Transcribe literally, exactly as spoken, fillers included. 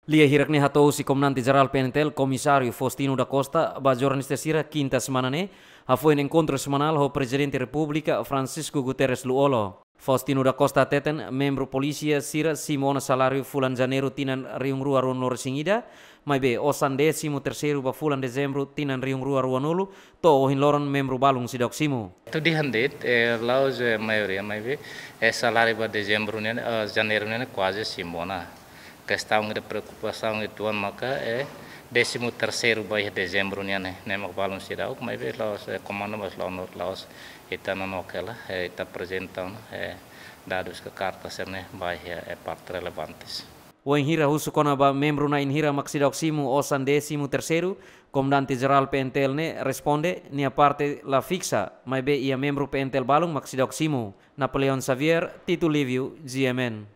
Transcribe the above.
Lia hirak ne'e hato'o husi Komandante Jerál P N T L, Komisáriu Faustino da Costa, ba jornalista sira kinta semana ne'e, hafoin enkontru semanál ho Prezidente Repúblika Francisco Guterres Lú-Olo. Faustino da Costa hateten, membru polísia sira simu ona saláriu fulan Janeiru tinan rihun rua ruanulu-resin-ida, maibé osan désimu terseiru ba fulan Dezembru tinan rihun rua ruanulu, to'o ohin loron membru balun seidauk simu. Tudu de'it, eh, la'ós, eh, maioria, maibé, eh, saláriu ba Dezembru nian, eh, Janeiru nian kuaze simu ona. Kestaun ida preokupasaun uitoan maka, eh, désimu terseiru ba iha Dezembru nian ne'e, ne'e mak balun seidauk, maibé la'ós, eh, komandu, mas la'ós, la'ós ita nonook hela, eh, ita aprezenta ona, eh, dadus ka karta sira-ne'e ba iha, eh, parte relevantes. Wainhira husu kona-ba membru na'in hira mak seidauk simu osan désimu terseiru, Komandante Jerál P N T L ne'e responde, nia parte la fiksa, maibé iha membru P N T L balun mak seidauk simu. Napoleão Xavier, Tito Livio, G M N.